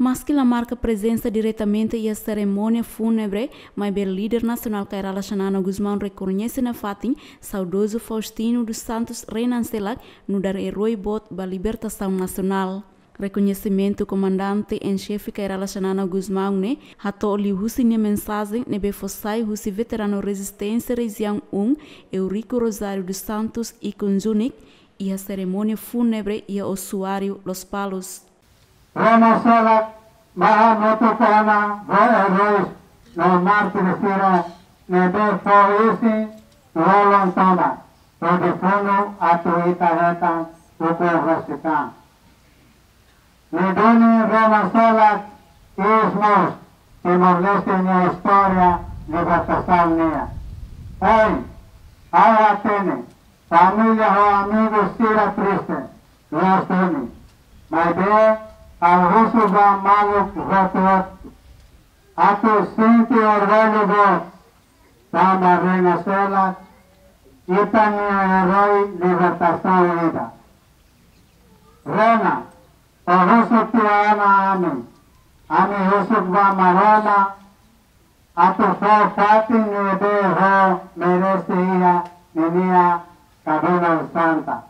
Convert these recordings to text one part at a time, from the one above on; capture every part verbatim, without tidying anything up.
Maski la marka prezensa diretamente iha serimónia fúnebre, maibé líder nasionál Kay Rala Xanana Gusmão rekoñese nafatin saudozu Faustino dos Santos Renan Selak nu'udar eroi boot ba libertasaun nasionál. Rekoñesimentu komandante en xefe Kay Rala Xanana Gusmão ne'e hato'o liuhusi nia mensajen ne'ebé fó sai husi veteranu rezisténsia rejiaun um, Eurico Rosário dos Santos Ikunjunik, iha serimónia fúnebre iha osuáriu Lospalos. Renan Selak, maha motu kona ho eróis no mártir sira ne'ebé fó isin lolon tomak hodi funu atu ita hetan ukun husi kan. Ne'e duni Renan Selak iis mós Timor-Leste nia istória libertasaun nian. Ohin, ha'u hatene, família ho amigu sira triste, loos duni. Maibé, ha'u husu ba maluk hotu-hotu atu sente orgullu boot, tanba Renan Selak, ita-nia eroi libertasaun ida. Renan, ó husu tiha ona ami, ami husu ba Maromak, atu fó fatin ne'ebé ó merese iha ninia kabinan santa.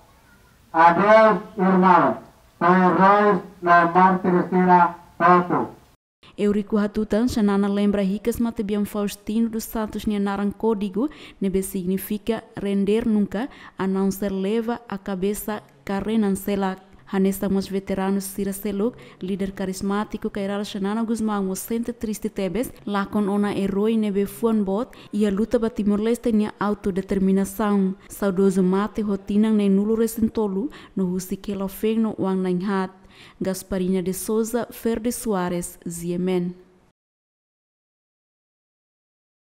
Adeus, irmaun, ho eróis no mártir sira hotu. Eurico hatutan, Xanana lembra hikas matebian Faustino dos Santos nia naran kódigu, ne'ebé signifika render nunca, a não ser leva a cabeça ka Renan Selak. Hanesan mós veteranu sira seluk, líder karizmátiku Kay Rala Xanana Gusmão mós sente triste tebes, lakon ona eroi ne'ebé fuan boot iha luta ba Timor-Leste nia autodeterminasaun. Saudozu mate ho tinan neenulu resin tolu, no husik hela feen no oan na'in haat. Gasparina de Souza, Fer de Soares, G M N.